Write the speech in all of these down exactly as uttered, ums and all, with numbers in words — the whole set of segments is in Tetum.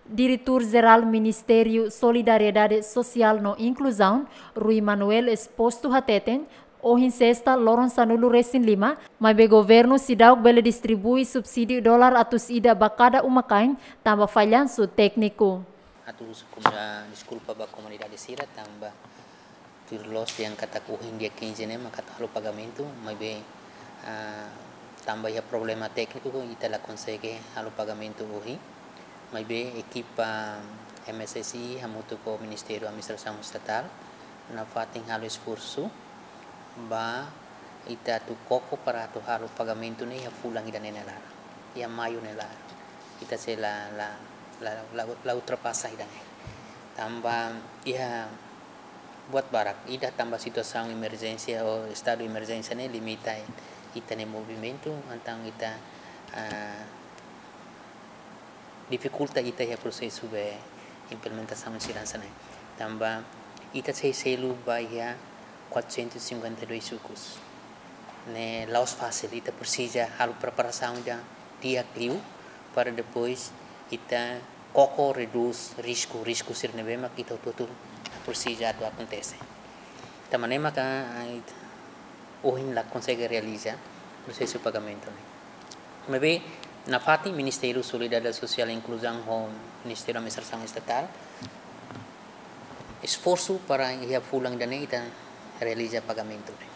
Diretór Jerál Ministériu Solidariedade Sosiál no Inkluzaun, Rui Manuel Exposto hateten, ohin Sesta loron sanulu resin lima, maibé governu seidauk bele distribui subsídiu dolar atus ida ba kada uma-kain, tanba fallansu tékniku. Atu husu komu-, ah, deskulpa ba komunidade sira, tanba tuir loos dehan katak ohin dia quinze ne'e mak atu halo pagamentu, maibé, ah, tanba iha problema tékniku ita la konsege halo pagamentu ohin. Maibé ekipa M S S I hamutuk ho Ministériu Administrasaun Estatál nafatin halo esforsu ba ita atu koko para atu halo pagamentu ne'e iha fulan ida-ne'e nia laran, iha Maiu nia laran. Ita sei la, la, la, la, la ultrapasa ida-ne'e. Tanba iha buat barak, ida tanba situasaun emerjénsia ou estadu emerjénsia ne'e limita ita-nia movimentu, entaun ita, ah, difikulta ita iha prosesu ba implementasaun seguransa ne'e. Tanba ita sei selu ba iha quatrocentos e cinquenta e dois sukus. Ne'e la'ós fasil, ita presiza halo preparasaun ida di'ak liu para depois ita koko redús risku, risku sira ne'ebé mak ita hotu-hotu presiza atu akontese. Tanba ne'e maka, ah, ita ohin la konsege realiza prosesu pagamentu ne'e. Maibé nafatin Ministériu Solidariedade Sosiál Inkluzaun ho Ministériu Administrasaun Estatál esforsu para iha fulan ida-ne'e ita realiza pagamentu ne'e.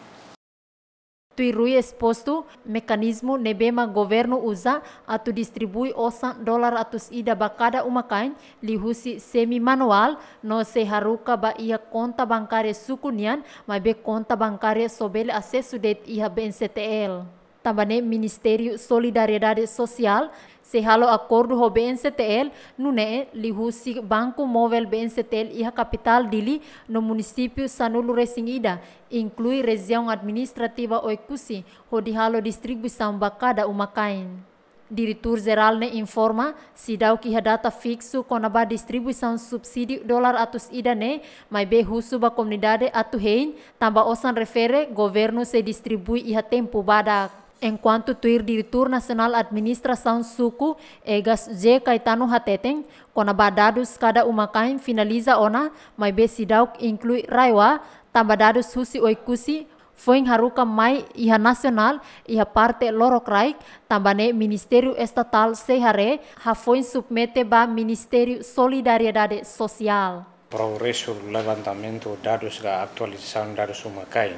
Tuir Rui Exposto, mekanizmu ne'ebé mak governu uza atu distribui osan dolar atus ida ba kada uma-kain liuhusi semi-manuál no sei haruka ba iha konta bankária suku nian, maibé konta bankária só bele asesu de'it iha B N C T L. Tanba ne'e Ministériu Solidariedade Sosiál sei halo akordu ho B N C T L, nune'e liuhusi banku móvel B N C T L iha kapitál Dili no munisípiu sanulu resin ida, inklui rejiaun administrativa Oekusi, hodi halo distribuisaun ba kada uma-kain. Diretór Jerál ne'e informa, seidauk iha data fiksu kona-ba distribuisaun subsídiu dolar atus ida ne'e, maibé husu ba komunidade atu hein, tanba osan refere governu sei distribui iha tempu badak. Enkuantu tuir Diretór Nasionál Administrasaun Suku, Egas J Caetano hateten, kona-ba dadus kada uma-kain finaliza ona, maibé seidauk inklui RAEOA, tanba dadus husi Oekusi, foin haruka mai iha nasionál, iha parte lorokraik, tanba ne'e Ministériu Estatál sei haree, hafoin submete ba Ministériu Solidariedade Sosiál. Progresu levantamentu dadus ka atualizasaun dadus uma-kain,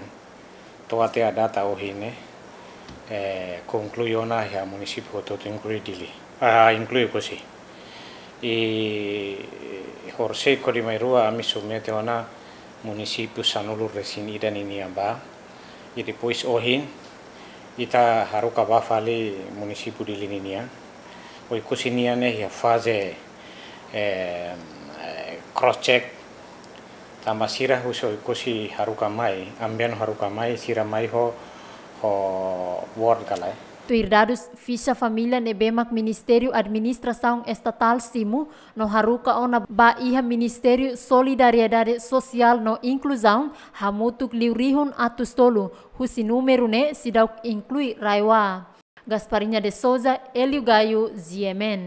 to'o até data ohin ne'e, eh, konklui ona iha munisípiu hotu-hotu inklui Dili. Ah, inklui Oekusi. I horisehik hodi mai rua ami submete ona munisípiu sanulu resin ida ninian ba. I depois ohin ita haruka ba fali munisípiu Dili ninian. Oekusi nian ne'e iha faze, eh, eh, cross check. Tanba sira husi Oekusi haruka mai, amben haruka mai, sira mai ho, ho word ka lae. Tuir dadus fixa família ne'ebé mak Ministériu Administrasaun Estatál simu no haruka ona ba iha Ministériu Solidariedade Sosiál no Inkluzaun, hamutuk liu rihun atus tolu, husi númeru ne'e seidauk inklui RAEOA. Gasparinha de Souza, Hélio Gaio, G M N.